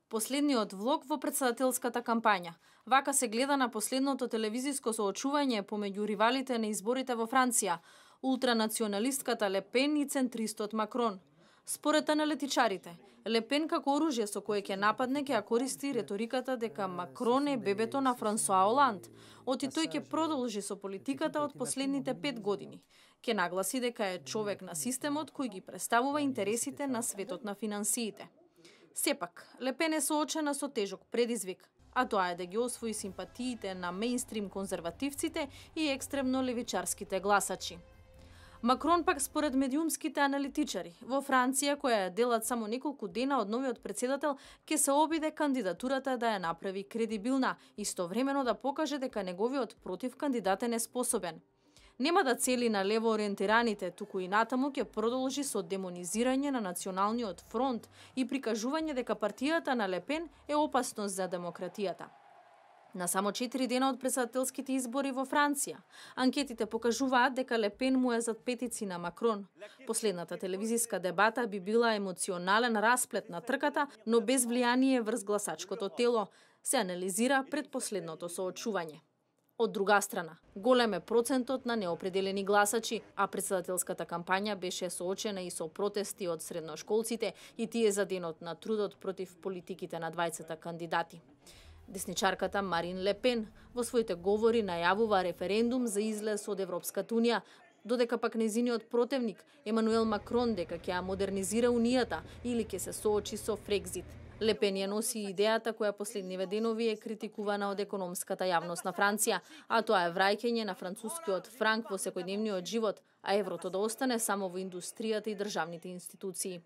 Последниот влог во претседателската кампања. Вака се гледа на последното телевизиско соочување помеѓу ривалите на изборите во Франција, ултранационалистката Ле Пен и центристот Макрон. Според аналитичарите, Ле Пен како оружје со кое ќе нападне ќе ја користи реториката дека Макрон е бебето на Франсоа Оланд, оти тој ќе продолжи со политиката од последните 5 години. Ќе нагласи дека е човек на системот кој ги представува интересите на светот на финансиите. Сепак, Ле Пен е соочена со тежок предизвик, а тоа е да ги освои симпатиите на мејнстрим конзервативците и екстремно левичарските гласачи. Макрон пак според медиумските аналитичари, во Франција, која е делат само неколку дена од новиот претседател, ќе се обиде кандидатурата да ја направи кредибилна, истовремено да покаже дека неговиот против кандидат е неспособен. Нема да цели на лево ориентираните, туку и натаму ќе продолжи со демонизирање на Националниот фронт и прикажување дека партијата на Ле Пен е опасност за демократијата. На само 4 дена од претседателските избори во Франција, анкетите покажуваат дека Ле Пен му е зад петици на Макрон. Последната телевизиска дебата би била емоционален расплет на трката, но без влијание врз гласачкото тело, се анализира пред последното соочување. Од друга страна, голем е процентот на неопределени гласачи, а претседателската кампања беше соочена и со протести од средношколците и тие за денот на трудот против политиките на двајцата кандидати. Десничарката Марин Ле Пен во своите говори најавува референдум за излез од Европската унија, додека пак незиниот противник Емануел Макрон дека ќе ја модернизира унијата или ќе се соочи со Фрекзит. Ле Пен ја носи идејата која последниве денови е критикувана од економската јавност на Франција, а тоа е враќање на францускиот франк во секојдневниот живот, а еврото да остане само во индустријата и државните институции.